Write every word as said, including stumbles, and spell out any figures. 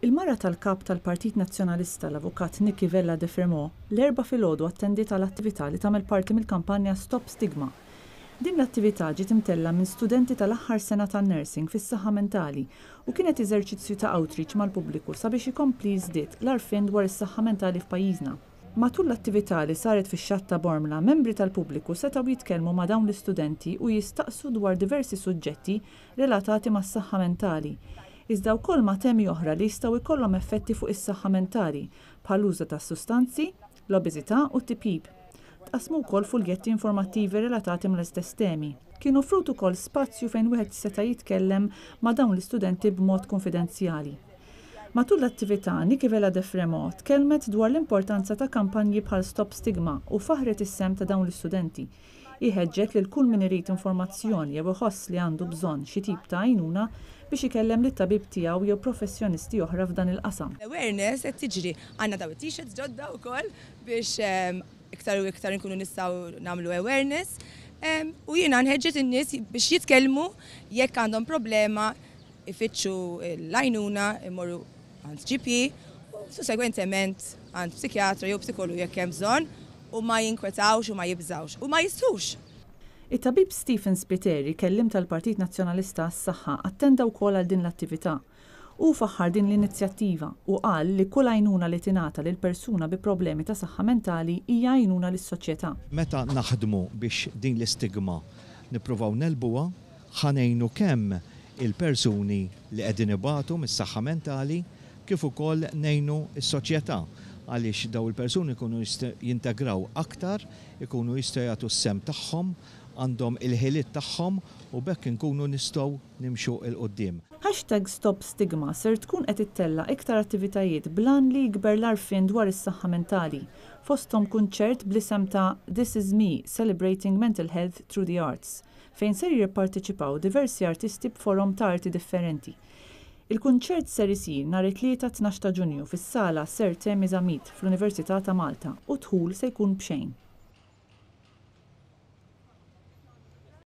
Il-mara tal-kap tal-Partit Nazzjonalista, l-Avukat Nickie Vella de Fremeaux, l-Erbgħa filgħodu attendiet għal attività li tagħmel parti mill-kampanja Stop Stigma. Din l-attività ġiet imtella' minn studenti tal-aħħar sena tan-nursing fis-saħħa mentali u kienet eżerċizzju ta' outreach mal-pubbliku sabiex ikompli jiżdied l-għarfien dwar is-saħħa mentali f'pajjiżna. Matul l-attività li saret fix-xatt ta' Bormla, membri tal-pubbliku setgħu jitkellmu ma' dawn l-istudenti u jistaqsu dwar diversi suġġetti relatati mas-saħħa mentali, iżda wkoll ma' temi oħra li jistgħu jkollhom effetti fuq is-saħħa mentali, bħall-użu ta' sustanzi, l-obeżità u t-tipjip. Tqassmu wkoll fuljetti informattivi relatati mal-istess temi. Kien offrut ukoll spazju fejn wieħed seta' jitkellem ma' dawn l-istudenti b'mod konfidenzjali. Matul l-attività, Nickie Vella de Fremeaux tkellmet dwar l-importanza ta' kampanji bħal Stop Stigma u faħret is-sehem ta' dawn l-istudenti. Ħeġġet lil kull min irid informazzjoni jew iħoss li għandu bżonn xi tip ta' għajnuna biex ikellem lit-tabib tiegħu jew professjonisti oħra f'dan il-qasam. Awareness qed tiġri. Għandna daw it-t-shirts ġodda wkoll biex iktar u iktar nkunu nistgħu nagħmlu awareness. U jiena nħeġġeġ in-nies biex jitkellmu jekk għandhom problema, ifittxu l-għajnuna, imorru għand G P u sussegwentement għand psikjatra jew psikologu jekk hemm bżonn u ma jinkwetawx u ma jibżawx u ma jistħux. It-tabib Stephen Spiteri, kelliem tal-Partit Nazzjonalista għas-Saħħa, attenda wkoll għal din l-attività. U faħħar din l-inizjattiva u qal li kull għajnuna li tingħata lil persuna bi problemi ta' saħħa mentali hija għajnuna lis-soċjetà. Meta naħdmu biex din l-istigma nippruvaw negħlbuha, ħa ngħinu kemm il-persuni li qegħdin ibatu mis-saħħa mentali kif ukoll ngħinu s-soċjetà, għaliex daw il-persuni jkunu jintegraw aktar, ikunu jistgħu jagħtu s-sehem tagħhom, għandhom il-ħiliet tagħhom u b'hekk inkunu nistgħu nimxu 'l quddiem. Hashtag Stop Stigma ser tkun qed ittella' iktar attivitajiet bl-għan li jikber l-għarfien dwar is-saħħa mentali, fosthom kunċert bl-isem ta' This Is Me: Celebrating Mental Health Through the Arts, fejn ser jipparteċipaw diversi artisti b'forom ta' arti differenti. Il-kunċert ser isir nhar it-Tlieta tnax ta' Ġunju fis-sala Sir Temi Zammit fl-Università ta' Malta u d-dħul se jkun b'xejn.